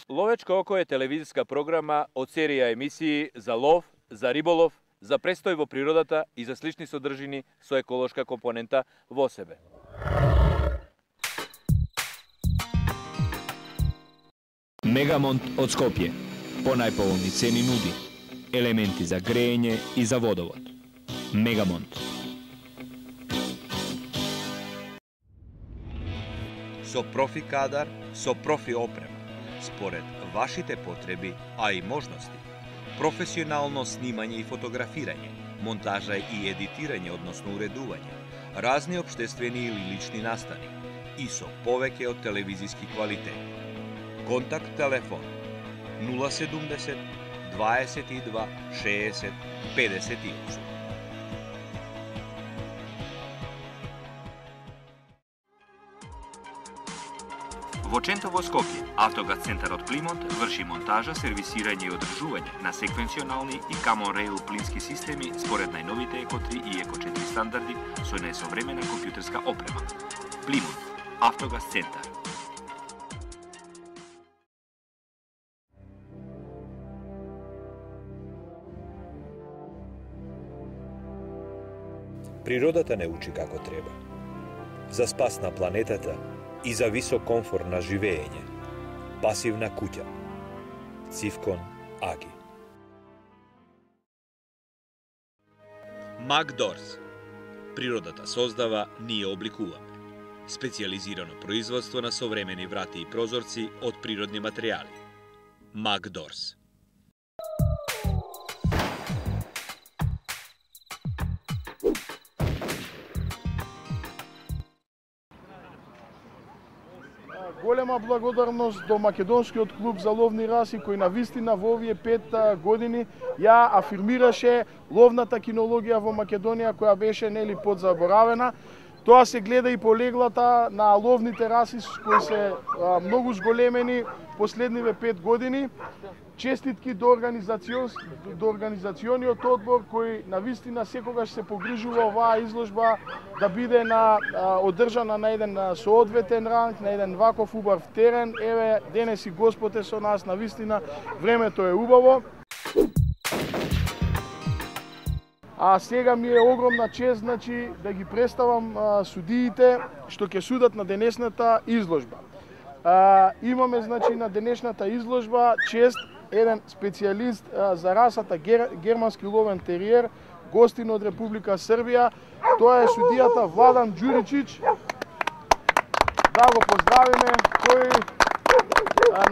Ловечко око е телевизиска програма од серија емисии за лов, за риболов, за престој во природата и за слични содржини со еколошка компонента во себе. Мегамонт од Скопје. По најповолни цени нуди елементи за грејење и за водовод. Мегамонт. Со профи кадар, со профи опрема, според вашите потреби, а и можности. Професионално снимање и фотографирање, монтажа и едитирање, односно уредување, разни општествени или лични настани и со повеќе од телевизиски квалитет. Контакт телефон 070 22 60 58. Во Чентово, Скопје, Автогаз центарот Плимонт врши монтажа, сервисирање и одржување на секвенционални и Common Rail плински системи според најновите Еко 3 и Еко 4 стандарди со најсовремена компјутерска опрема. Плимонт, Автогаз центар. Природата не учи како треба. За спас на планетата и за висок комфорт на живење. Пасивна куќа. Цивкон Аги. Макдорс. Природата создава, ние обликуваме. Специјализирано производство на современи врати и прозорци од природни материјали. Макдорс. Голема благодарност до Македонскиот клуб за ловни раси кој навистина во овие 5 години ја афирмираше ловната кинологија во Македонија која беше нели подзаборавена. Тоа се гледа и по леглата на ловните раси кои се многу зголемени последниве 5 години. Честитки до организациониот одбор кој навистина секогаш се погрижува оваа изложба да биде одржана на еден соодветен ранг, на еден ваков убав терен. Еве, денес и Господ е со нас, навистина времето е убаво. А сега ми е огромна чест да ги представам судиите што ќе судат на денешната изложба. Имаме на денешната изложба чест еден специјалист за расата германски ловен териер, гостин од Република Србија. Тоа е судијата Владан Ѓуричич. Да го поздравиме, кој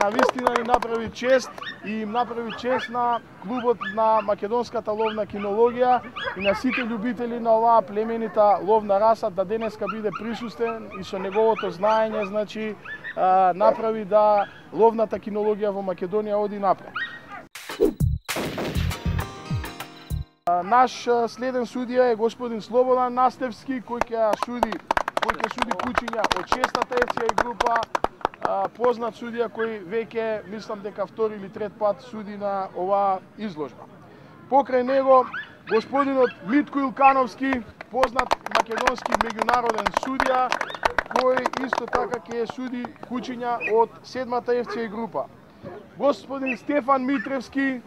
навистина ни направи чест и им направи чест на клубот на македонската ловна кинологија и на сите љубители на оваа племенита ловна раса да денеска биде присуствен и со неговото знаење направи да ловната кинологија во Македонија оди напред. Наш следен судија е господин Слободан Настевски кој ќе суди кучиња од 6-та ФЦ група, познат судија кој веќе мислам дека втори или трет пат суди на оваа изложба. Покрај него господинот Митко Илкановски, познат македонски меѓународен судија кој исто така ќе суди кучиња од 7-та ФЦ група. Господин Стефан Митревски,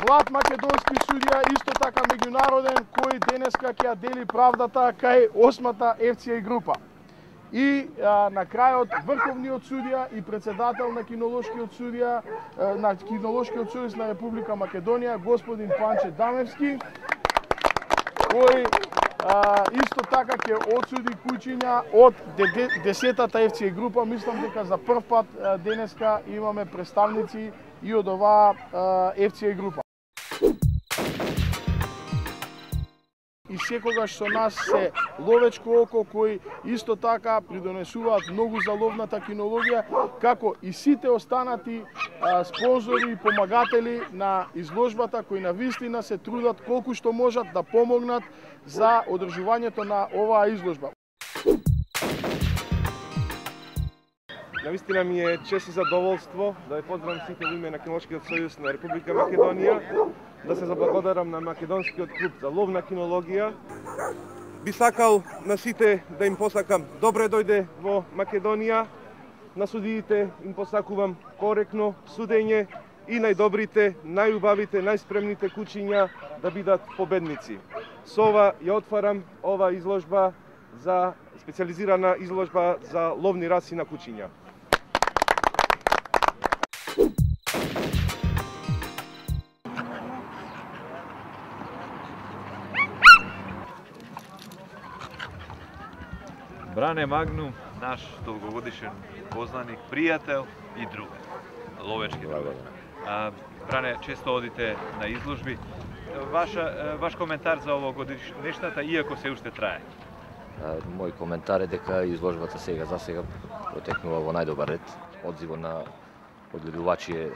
млад македонски судија, исто така меѓународен, кој денеска ќе ја дели правдата кај 8-та ФЦ група. И на крајот врховниот судија и председател на кинолошкиот судија на Република Македонија, господин Панче Дамевски, кој исто така ќе одсуди кучиња од 10-та ФЦ група. Мислам дека за прв пат денеска имаме представници и од оваа ФЦ група. И секогаш со нас се Ловечко око кој исто така придонесуваат многу за ловната кинологија, како и сите останати спонзори и помагатели на изложбата кои навистина се трудат колку што можат да помогнат за одржувањето на оваа изложба. Навистина ми е чест и задоволство да ве поздравам сите во име на Кинолошкиот сојуз на Република Македонија, да се заблагодарам на Македонскиот клуб за ловна кинологија Би сакал на сите да им посакам добре дојде во Македонија. На судиите им посакувам коректно судење и најдобрите, најубавите, најспремните кучиња да бидат победници. Со ова ја отварам ова изложба за специализирана изложба за ловни раси на кучиња. Бране Магнум, наш долгогодишен познаник, пријател и друг, ловечки друг. Бране, често одите на изложби. Ваш коментар за овогодишнешната, иако се уште трае? Мој коментар е дека изложбата сега протекнува во најдобар ред. Одзивот на одгледувачи е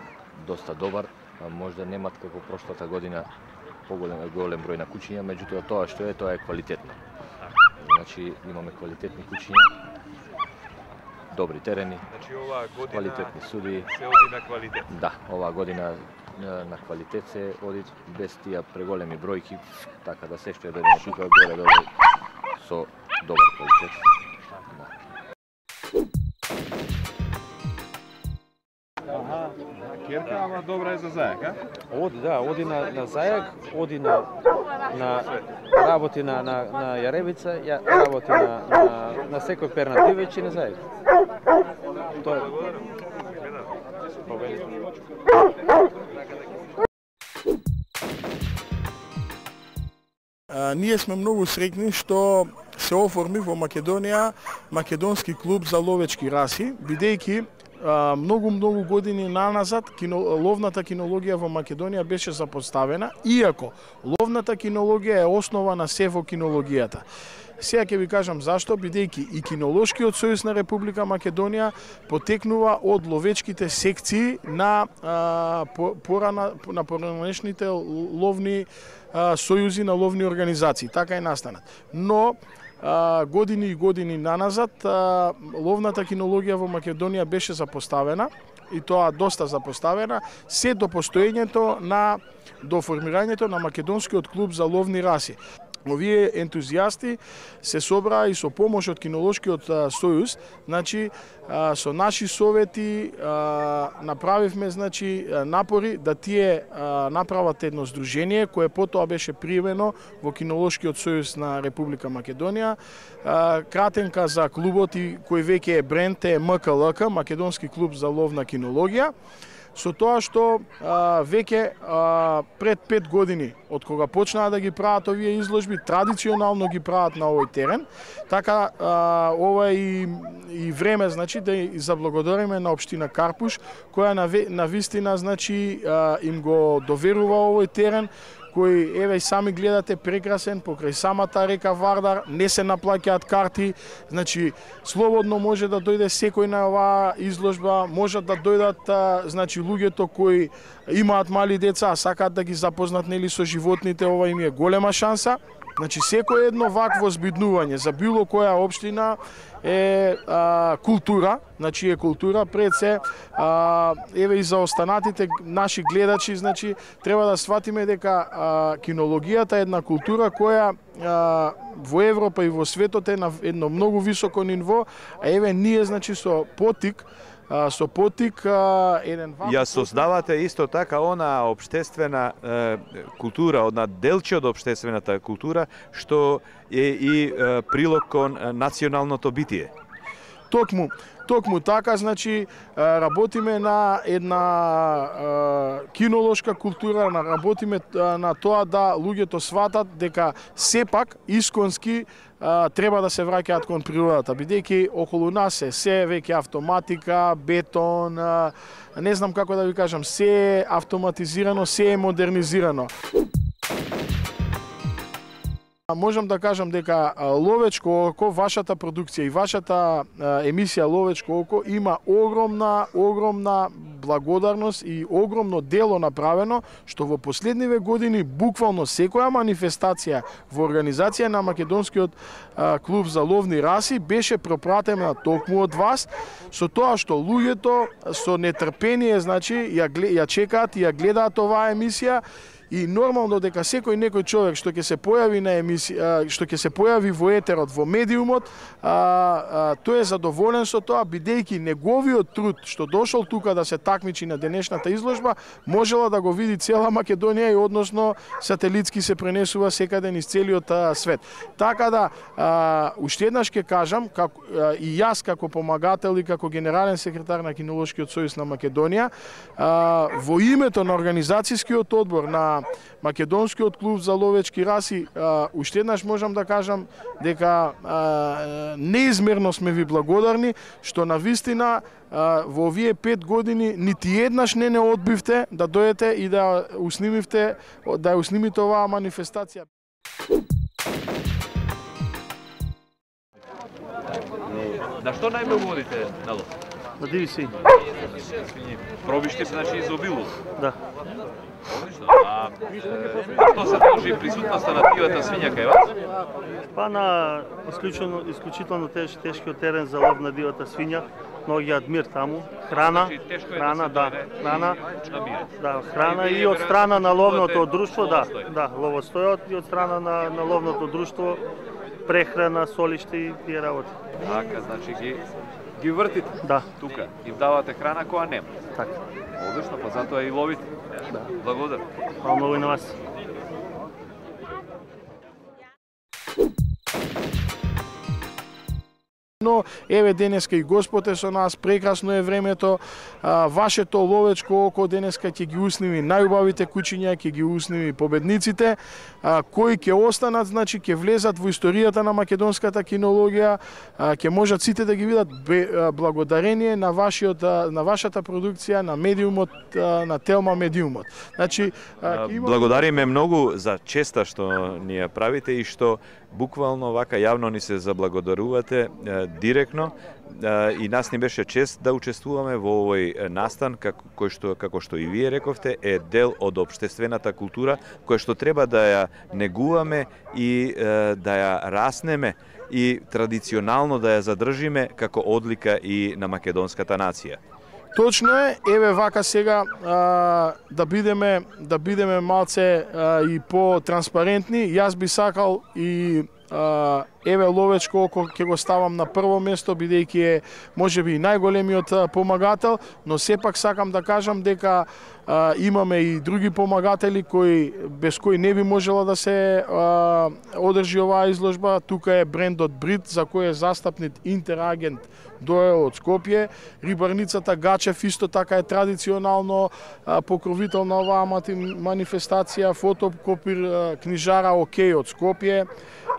доста добар. Можда немат како прошлата година голем број на кучиња, меѓутоа тоа е квалитетно. Значи имаме квалитетни кучиња, добри терени, квалитетни суди. Се оди на квалитет. Да, оваа година на квалитет се оди без тие преголеми бројки, така да се што е дојдено тука горе со добар квалитет. Керка, ама добра е за зајак, а? Оди на зајак, оди на работи на јаревица, работи на секој пернат дивеч и на зајак. Тоа Ние сме многу среќни што се оформи во Македонија македонски клуб за ловечки раси, бидејќи многу години наназад ловната кинологија во Македонија беше запоставена, иако ловната кинологија е основа на се во кинологијата. Сега ќе ви кажам зашто, бидејќи и Кинолошкиот сојуз на Република Македонија потекнува од ловечките секции на поранешните ловни сојузи на ловни организации, така и настанат. Но години и години наназад ловната кинологија во Македонија беше запоставена, и тоа доста запоставена, се до постоењето до формирањето на Македонскиот клуб за ловни раси. Овие ентузијасти се собраа и со помош од Кинолошкиот сојуз, значи со наши совети направивме напори да тие направат едно здружение кое потоа беше примено во Кинолошкиот сојуз на Република Македонија. Кратенка за клубот и кој веќе е бренд е МКЛК, Македонски клуб за ловна кинологија. Со тоа што веќе пред 5 години од кога почнаа да ги прават овие изложби, традиционално ги прават на овој терен, така ова е и време да заблагодариме на општина Карпуш, која на вистина им го доверува овој терен, кој еве сами гледате прекрасен покрај самата река Вардар, не се наплаќаат карти, значи слободно може да дојде секој на оваа изложба, можат да дојдат луѓето кои имаат мали деца, а сакаат да ги запознат со животните, ова им е голема шанса. Значи секој едно вакво збиднување за било која општина е култура, значи е култура пред се, еве и за останатите наши гледачи, значи треба да сватиме дека кинологијата е една култура која во Европа и во светот е на едно многу високо ниво, а еве ние со потик еден ваков... Ја создавате исто така она општествена култура, одна делче од општествената култура, што е и прилог кон националното битие. Токму така, значи, работиме на една кинолошка култура, работиме на тоа да луѓето сватат дека сепак исконски треба да се враќаат кон природата, бидејќи околу нас се веќе автоматика, бетон, не знам како да ви кажам, се е автоматизирано, се е модернизирано. Можам да кажам дека Ловечко око, вашата продукција и вашата емисија Ловечко око има огромна благодарност и огромно дело направено, што во последниве години буквално секоја манифестација во организација на Македонскиот клуб за ловни раси беше пропратена токму од вас, со тоа што луѓето со нетрпение, значи, ја чекаат и ја гледаат оваа емисија и нормално дека секој некој човек што ќе се појави на емисија, што ќе се појави во етерот, во медиумот, тој е задоволен со тоа, бидејќи неговиот труд што дошол тука да се такмичи на денешната изложба, можела да го види цела Македонија и односно сателитски се пренесува секаде низ целиот свет. Така да, уште еднаш ќе кажам, и јас како помагател и како генерален секретар на Кинолошкиот сојуз на Македонија, во името на организацијскиот одбор на Македонскиот клуб за ловечки раси, уште еднаш можам да кажам дека неизмерно сме ви благодарни што на вистина во овие 5 години нити еднаш не одбивте да дојдете и да уснимите оваа манифестација. На што најмногу водите на лов? На диви свињи. Пробиште, значи, изобилува? Да. Одлично. А што се должи присутноста на дивата свиња кај вас? Па на исклучително тешкиот терен за лов на дивата свиња, многиот мир таму, храна, храна и од страна на ловното друштво, ловостојот и од страна на ловното друштво, прехрана, солиште и тие работи. Така, значи ги вртите тука, им давате храна која нема. Така. Одлично, па затоа и ловите. Благодарам. Хвала многу и на вас. Но еве денеска и Господ е со нас, прекрасно е времето, вашето ловечко око денеска ќе ги усними најубавите кучиња, ќе ги усними победниците, кои ќе останат, значи ќе влезат во историјата на македонската кинологија, ќе можат сите да ги видат благодарение на вашата продукција, на медиумот, на Телма медиумот. Значи, благодариме многу за честа што ни ја правите и што буквално вака јавно ни се заблагодарувате директно, и нас ни беше чест да учествуваме во овој настан, како што и вие рековте, е дел од општествената култура, која што треба да ја негуваме и да ја раснеме и традиционално да ја задржиме како одлика и на македонската нација. Точно е, еве вака сега да бидеме малце и по-транспарентни. Јас би сакал и еве ловечко око ќе го ставам на прво место, бидејќи е можеби најголемиот помагател, но сепак сакам да кажам дека имаме и други помагатели без кои не би можела да се одржи оваа изложба. Тука е брендот Брит, за кој е застапнит интерагент дојел од Скопје. Рибарницата Гачев исто така е традиционално покровител на оваа манифестација. Фотокопир книжара Океј од Скопје,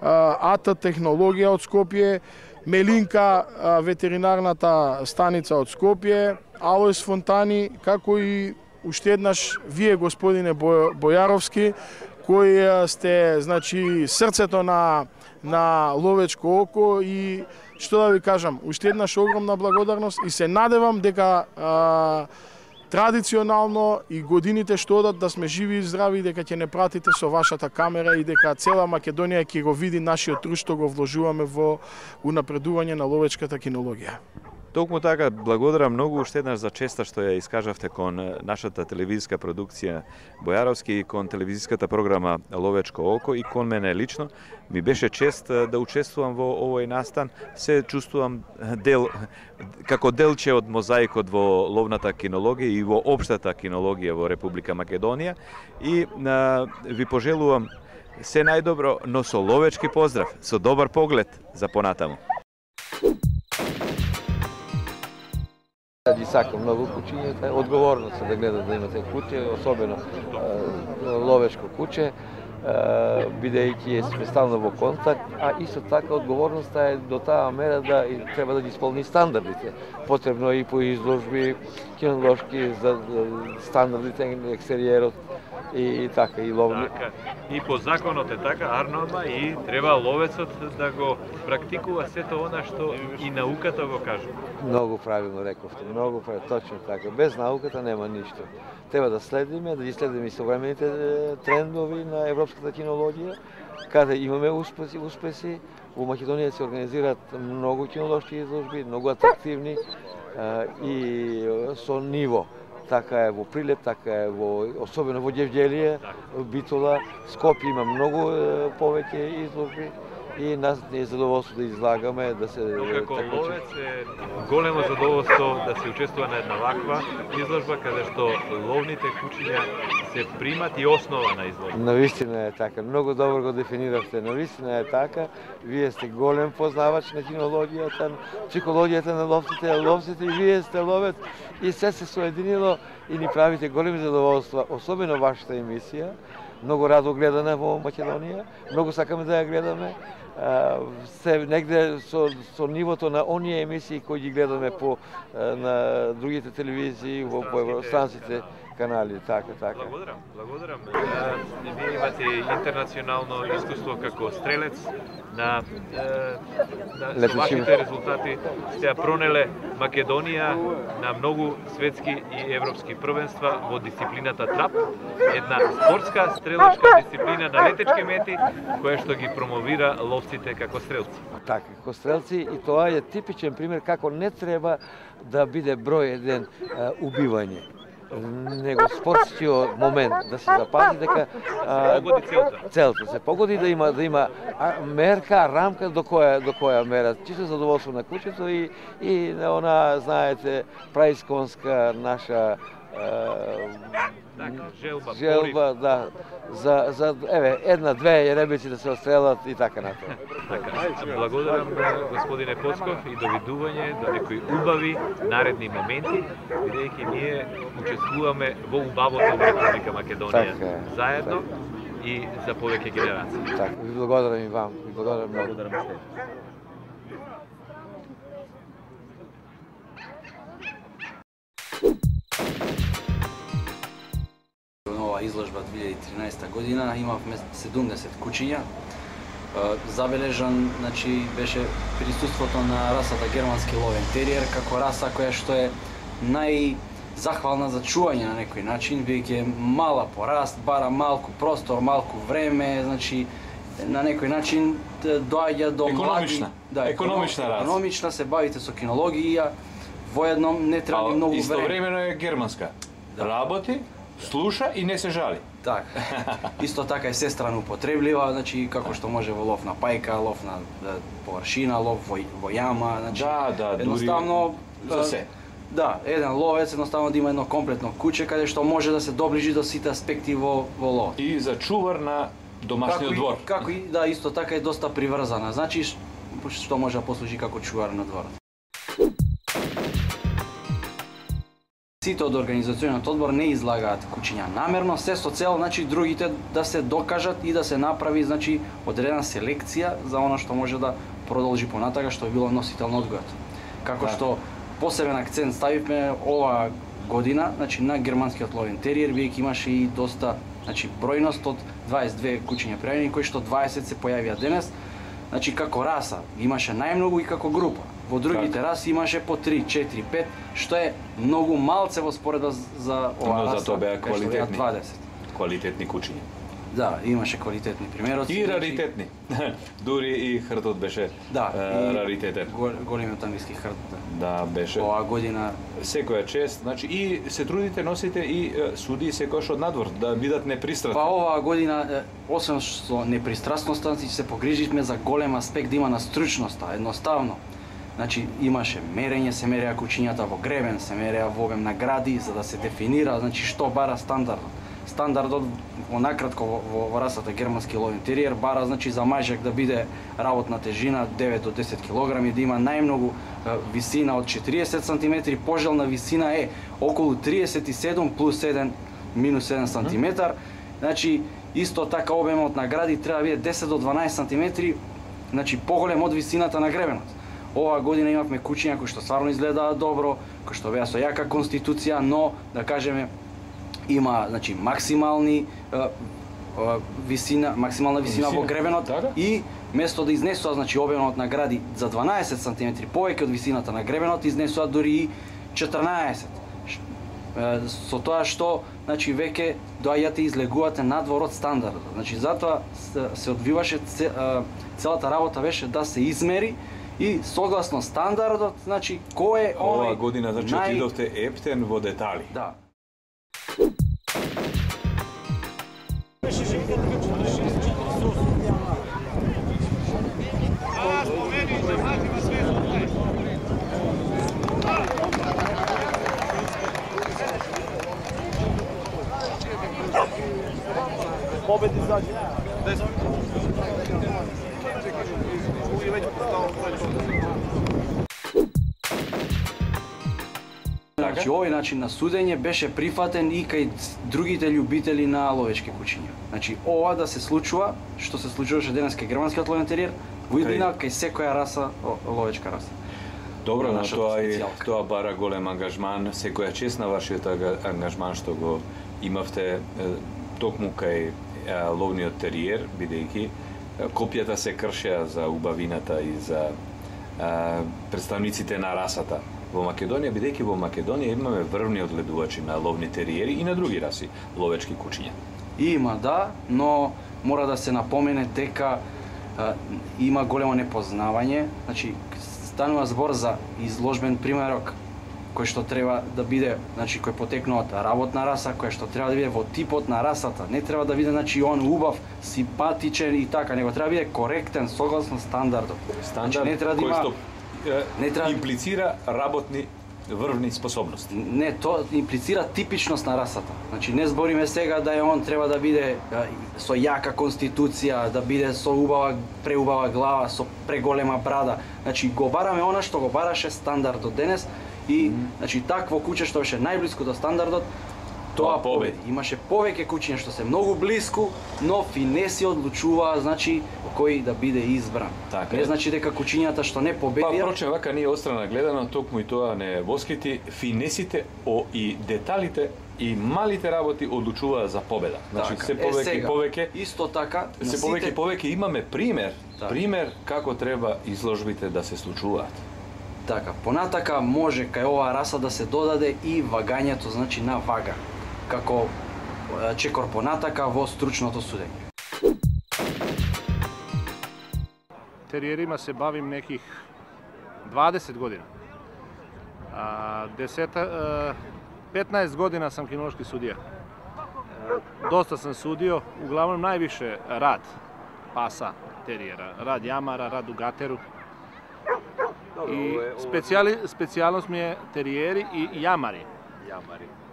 АТ технологија од Скопје, Мелинка ветеринарната станица од Скопје, Алојс Фонтани, како и уште еднаш вие, господине Бојаровски, кои сте, значи, срцето на ловечко око, и што да ви кажам, уште еднаш огромна благодарност и се надевам дека традиционално и годините што одат да сме живи и здрави, дека ќе не пратите со вашата камера и дека цела Македонија ќе го види нашиот труд што го вложуваме во унапредување на ловечката кинологија. Токму така, благодарам многу уште еднаш за честа што ја искажавте кон нашата телевизиска продукција Бојаровски и кон телевизиската програма Ловечко око, и кон мене лично. Ми беше чест да учествувам во овој настан. Се чувствувам како делче од мозаикот во ловната кинологија и во општата кинологија во Република Македонија, и ви пожелувам се најдобро, но со ловечки поздрав, со добар поглед за понатаму. Ги сакам многу кучињата, одговорност да гледат да имате куќе, особено ловечко куќе, бидејќи сме стално во контакт, а исто така одговорноста е до таа мера да треба да ги исполни стандардите. Потребно и по изложби, кинолошки, за стандардите на екстериерот и така, и ловни. Така, и по законот е така, Арнома, и треба ловецот да го практикува сето она што и науката го кажува. Многу правилно рековте, многу правилно, точно така. Без науката нема ништо. Треба да следиме, да ги следиме и современите трендови на европската кинологија, каде имаме успеси. Во Македонија се организираат многу кинолошки изложби, многу атрактивни и со ниво. така е во Прилеп, така е особено во Ѓевѓелие, Битола, Скопје има многу повеќе изложби и нас не е задоволство да излагаме, да се... Но како ловец е големо задоволство да се учествува на една ваква изложба, каде што ловните кучиња се примат и основа на изложба. Навистина е така, многу добро го дефиниравте, навистина е така. Вие сте голем познавач на кинологијата, психологијата на ловците и вие сте ловец и се соединило и ни правите големи задоволства, особено вашата емисија. Многу радо гледана во Македонија, многу сакаме да ја гледаме. Се негде со нивото на оние емисии кои ги гледаме на другите телевизии, во станците, канали, така. Благодарам. Вие имате интернационално искуство како стрелец на со вашите резултати сте пронеле Македонија на многу светски и европски првенства во дисциплината трап, една спортска стрелачка дисциплина на летечки мети која што ги промовира ловците како стрелци. Така, како стрелци, и тоа е типичен пример како не треба да биде број еден убивање, него спортскиот момент да се запази дека целта се погоди, да има мерка, рамка до која мера, чисто задоволство на кучето и она, знаете, праисконска наша желба, да, за една-две јеребици да се отстрелат и така натаму. Благодарам господине Поцков и довидување до некои убави наредни моменти, бидејќи ние учествуваме во убавото во Република Македонија заедно и за повеќе генерации. Така, ви благодарам и вам, ви благодарам многу. Изложба 2013 година имавме 70 кучиња. Забележан, беше присуството на расата германски ловен териер како раса која што е најзахвална за чување на некој начин, бидејќи е мала по раст, бара малку простор, малку време, на некој начин доаѓа до млади... Економична раса. Економична, се бавите со кинологија, воедно не треба многу време. Истовремено е германска. Работи, слуша и не се жали. Така. Исто така е сестрано употреблива, како што може во лов на пајка, лов на површина, лов во јама, едноставно за се. Да, еден ловец едноставно да има едно комплетно куче каде што може да се доближи до сите аспекти во лов. И за чувар на домашниот двор. Како и да, исто така е доста приврзана, што може да послужи како чувар на дворот. Сите од организациониот одбор не излагаат кучиња намерно, се со цел другите да се докажат и да се направи одредена селекција за она што може да продолжи понатака, што е било носител на одгојот. Како што посебен акцент ставивме оваа година на германскиот ловен териер, бидејќи имаше и доста бројност од 22 кучиња пријавени, кои што 20 се појавија денес. Како раса имаше најмногу и како група. Во другите раси имаше по 3, 4, 5, што е многу малце во споредба за оваа раса. Но зато беа квалитетни. 20. Квалитетни кучиња. Да, имаше квалитетни примероци. И раритетни. Дури и хртот беше раритетен. Големиот англиски хрт. Да, беше. Оваа година секоја чест, и се трудите, носите и суди секојаш од надвор да бидат непристрасни. Па оваа година, освен што непристрасноста, се погриживме за голем аспект да има на стручноста, едноставно. Имаше мерење, се мереа кучињата во гребен, се мереа во обем на гради, за да се дефинира, што бара стандардот. Стандардот, накратко, во расата германски ловен териер, бара, за мајжак да биде работна тежина 9 до 10 кг, да има најмногу висина од 40 см, пожелна висина е околу 37 плюс 1 минус 1 см. Исто така обемот на гради треба да биде 10 до 12 см, поголем од висината на гребенот. Оваа година имавме кучиња кои што стварно изгледаат добро, кои што беа со јака конституција, но, да кажеме, има максимална висина во гребенот и место да изнесува обемот на гради за 12 см повеќе од висината на гребенот, изнесува дури и 14. Со тоа што веќе доаѓате и излегувате надвор од стандардот. Затоа се одвиваше, целата работа беше да се измери и согласно стандардот, кој е оној Оваа година, отидовте ептен во детали. Да. Значи овој начин на судење беше прифатен и кај другите љубители на ловечки кучиња. Значи ова да се случува, што се случуваше денес кај германскиот ловен териер, во иднина кај секоја раса, ловечка раса. Добро, но тоа бара голем ангажман, секоја чест на вашиот ангажман што го имавте токму кај ловниот териер, бидејќи копјата се кршеа за убавината и за представниците на расата во Македонија, бидејќи во Македонија имаме врвни одгледувачи на ловни териери и на други раси ловечки кучиња. Има, да, но мора да се напомене дека има големо непознавање, значи станува збор за изложбен примерок кој што треба да биде, значи кој потекнува од работна раса, кој што треба да биде во типот на расата, не треба да биде значи он убав, симпатичен и така, него треба да биде коректен согласно стандардот. Стандард не треба да има, кој што имплицира работни врвни способности. Не, тоа имплицира типичност на расата. Значи не збориме сега да он треба да биде со јака конституција, да биде со преубава глава, со преголема брада. Значи го бараме она што го бараше стандардот денес и значи такво куче што беше најблиску до стандардот, тоа победи. Имаше повеќе кучиња што се многу блиску, но финеси одлучуваа значи кој да биде избран. Така не значи дека кучињата што не победија. Па впрочем вака ние острана гледано токму и тоа не воскити, финесите и деталите и малите работи одлучуваа за победа. Значи се повеќе исто така се повеќе имаме пример како треба изложбите да се случуваат. Така, понатака може кај оваа раса да се додаде и вагањето, значи на вага, како чекор понатака во стручното судење. Териерима се бавим неких 20 година. 15 година сам кинолошки судија. Доста сам судио, углавном највише рад паса териера, рад јамара, рад угатеру. И специјалност ми е териери и јамари.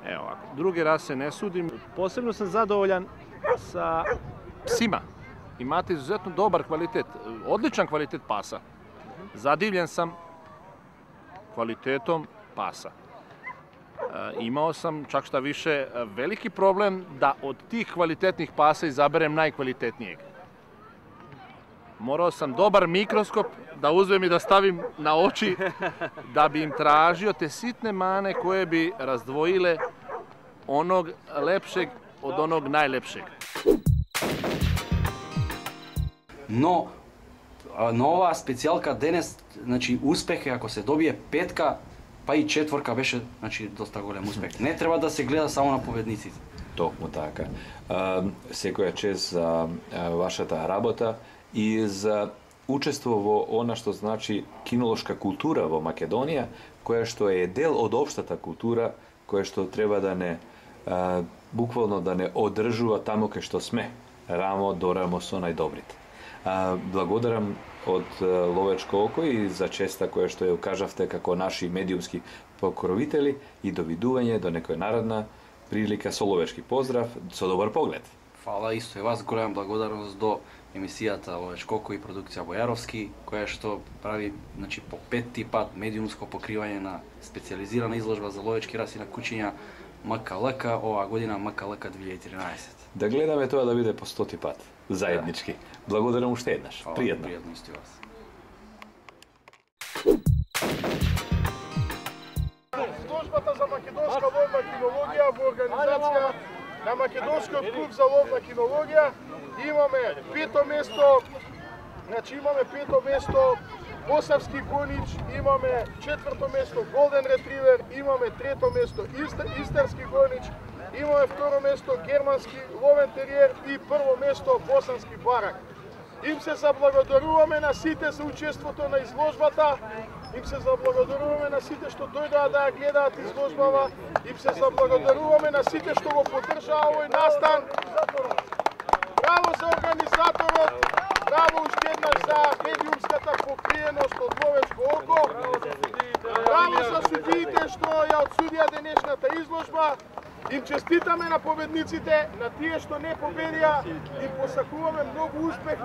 Ево, други расе не судим. Посебно сум задоволјан са псима. Имате изузетно добар квалитет, одличен квалитет паса. Задивљен сам квалитетом паса. Имао сам, чак шта више, велики проблем да од тих квалитетних паса изаберем најквалитетнијег. Морao sam dobar mikroskop da uzmem i da stavim na oči da bi im tražio te sitne mane koje bi razdvojile onog lepšeg od onog najlepšeg. Но на оваа специјалка денес, значи успех е ако се добие петка, па и четворка беше, значи доста голем успех. Не треба да се гледа само на победниците. Токму така. Секоја чест за вашата работа и за учество во она што значи кинолошка култура во Македонија, која што е дел од општата култура, која што треба да не буквално да не одржува таму кај што сме, рамо до рамо со најдобрите. Благодарам од Ловечко око и за честа која што ја укажавте како наши медиумски покровители и довидување до некоја наредна прилика со ловечки поздрав, со добар поглед. Фала исто и вас, голема благодарност до емисијата Ловечко око и продукција Бојаровски, која што прави значи по петти пат медиумско покривање на специјализирана изложба за ловечки раси на кучиња МКЛК, оваа година МКЛК 2013. Да гледаме тоа да биде по 100 пат, заеднички. Благодарам уште еднаш. Пријатно. Пријатно исто и вас. Службата за македонска ловна кинологија во организација на Македонскиот клуб за ловна кинологија имаме пето место, значи имаме пето место Босавски гонич, имаме четврто место Голден ретривер, имаме трето место Истерски гонич, имаме второ место Германски ловен териер и прво место Босански барак. Им се заблагодаруваме на сите за учеството на изложбата, им се заблагодаруваме на сите што дојдоа да ја гледаат изложбава, им се заблагодаруваме на сите што го поддржаа овој настан. Браво за организаторот, браво уште еднаш за медиумската покриеност од Ловечко око, браво за судиите што ја одсудија денешната изложба. Им честитаме на победниците, на тие што не победија, им посакуваме многу успех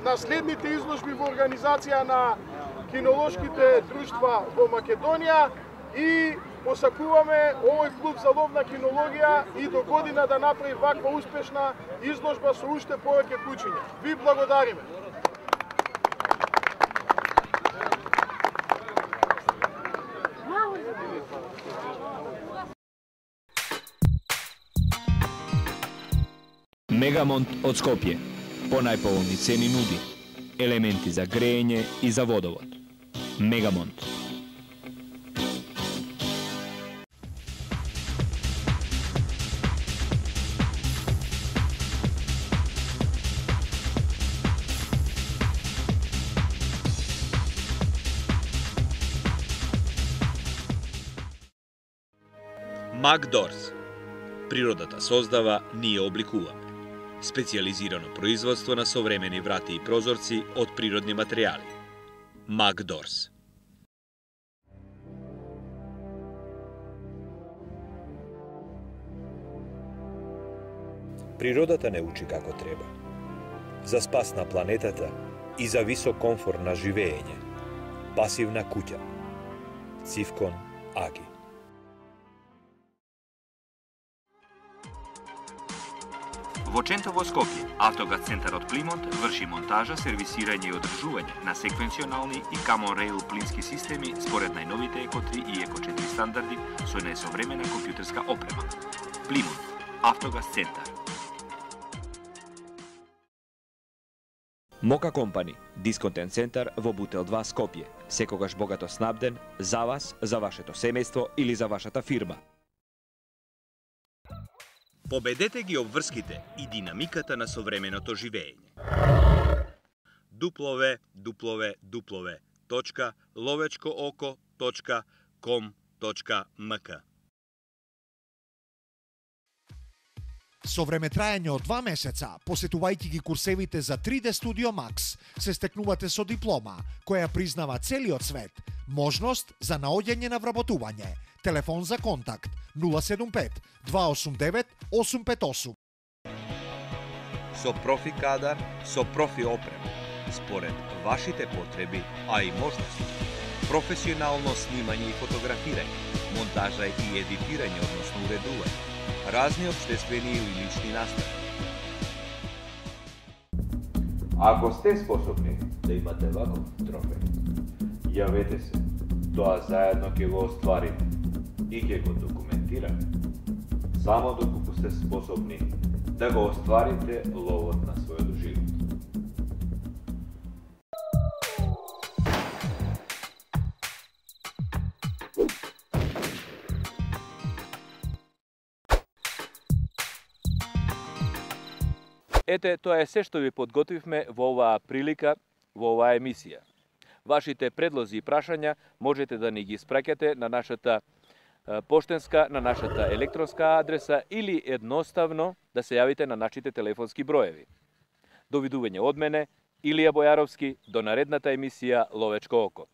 на следните изложби во организација на кинолошките друштва во Македонија и посакуваме овој клуб за ловна кинологија и до година да направи ваква успешна изложба со уште повеќе кучиња. Ви благодариме. Мегамонт од Скопје. По најповолни цени нуди елементи за грејење и за водовод. Мегамонт. Макдорс. Природата создава, ние обликуваме. Специјализирано производство на современи врати и прозорци од природни материјали. Макдорс. Природата не учи како треба. За спас на планетата и за висок комфор на живење. Пасивна куќа. Цивкон Аги. Во Чентово Скопје, Автогаз центарот Плимонт врши монтажа, сервисирање и одржување на секвенционални и Common Rail плински системи според најновите Еко 3 и Еко 4 стандарди со најсовремена компјутерска опрема. Плимонт, Автогаз центар. Мока компани, дисконтен центар во Бутел 2 Скопје. Секогаш богато снабден за вас, за вашето семејство или за вашата фирма. Победете ги обврските и динамиката на современото живење. www.lovečkooko.com.mk Со времетраење од 2 месеца, посетувајќи ги курсевите за 3D Studio Max, се стекнувате со диплома, која признава целиот свет, можност за наоѓање на вработување. Телефон за контакт 075 289 858. Со профи кадар, со профи опрема, според вашите потреби, а и можности. Професионално снимање и фотографирање, монтажа и едитирање, односно уредување, разни општествени или лични настави. Ако сте способни да имате ваков трофеј, јавете се. Тоа заедно ќе го остварите и ќе го документираме. Само доколку сте способни да го остварите ловот на својот живот. Ете, тоа е се што ви подготвивме во оваа прилика, во оваа емисија. Вашите предлози и прашања можете да ни ги испраќате на нашата поштенска, на нашата електронска адреса или едноставно да се јавите на нашите телефонски броеви. Довидување од мене, Илија Бојаровски, до наредната емисија Ловечко око.